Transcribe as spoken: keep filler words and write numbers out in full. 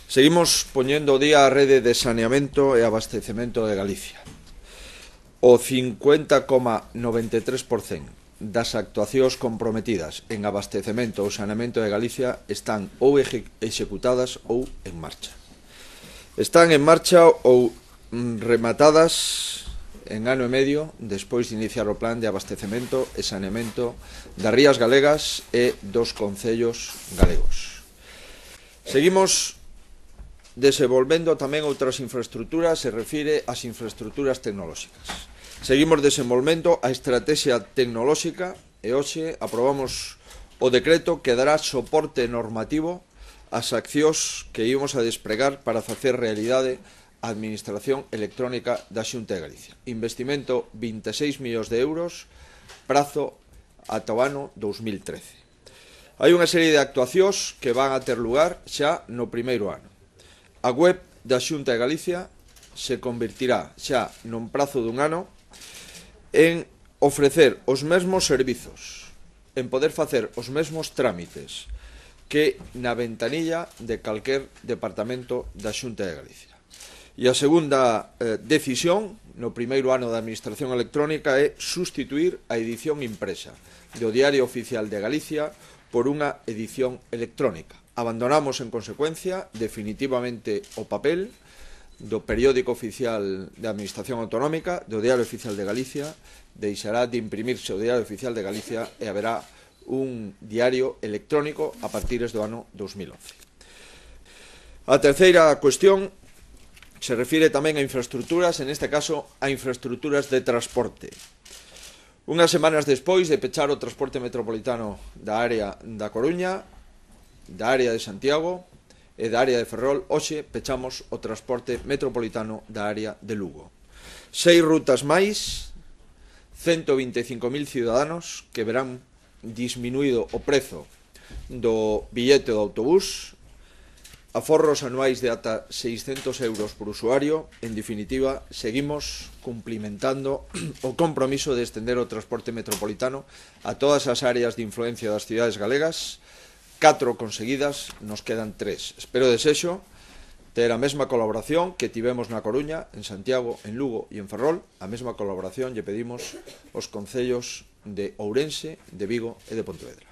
Seguimos poñendo día a rede de saneamento e abastecemento de Galicia. O cincuenta coma noventa e tres por cento das actuacións comprometidas en abastecemento ou saneamento de Galicia están ou executadas ou en marcha. Están en marcha ou rematadas en ano e medio despois de iniciar o plan de abastecemento e saneamento das rías galegas e dos concellos galegos. Seguimos desenvolvendo tamén outras infraestructuras, se refire ás infraestructuras tecnolóxicas. Seguimos desenvolvendo a estrategia tecnolóxica e hoxe aprobamos o decreto que dará soporte normativo ás accións que íbamos a despregar para facer realidade a Administración Electrónica da Xunta de Galicia. Investimento vinte e seis millóns de euros, prazo ata o ano dous mil trece. Hai unha serie de actuacións que van a ter lugar xa no primeiro ano. A web da Xunta de Galicia se convertirá xa nun prazo dun ano en ofrecer os mesmos servizos, en poder facer os mesmos trámites que na ventanilla de calquer departamento da Xunta de Galicia. E a segunda eh, decisión no primeiro ano da Administración Electrónica é sustituir a edición impresa do Diario Oficial de Galicia por unha edición electrónica. Abandonamos, en consecuencia, definitivamente o papel do periódico oficial de Administración Autonómica, do Diario Oficial de Galicia, deixará de imprimirse o Diario Oficial de Galicia e haberá un diario electrónico a partir do ano dous mil once. A terceira cuestión se refire tamén a infraestructuras, en este caso a infraestructuras de transporte. Unhas semanas despois de pechar o transporte metropolitano da área da Coruña, da área de Santiago e da área de Ferrol, hoxe pechamos o transporte metropolitano da área de Lugo. Seis rutas máis, ciento vinte e cinco mil ciudadanos que verán disminuído o prezo do billete do autobús, aforros anuais de ata seiscentos euros por usuario. En definitiva, seguimos cumplimentando o compromiso de extender o transporte metropolitano a todas as áreas de influencia das cidades galegas. Catro conseguidas, nos quedan tres. Espero e desexo ter a mesma colaboración que tivemos na Coruña, en Santiago, en Lugo e en Ferrol. A mesma colaboración lle pedimos aos concellos de Ourense, de Vigo e de Pontevedra.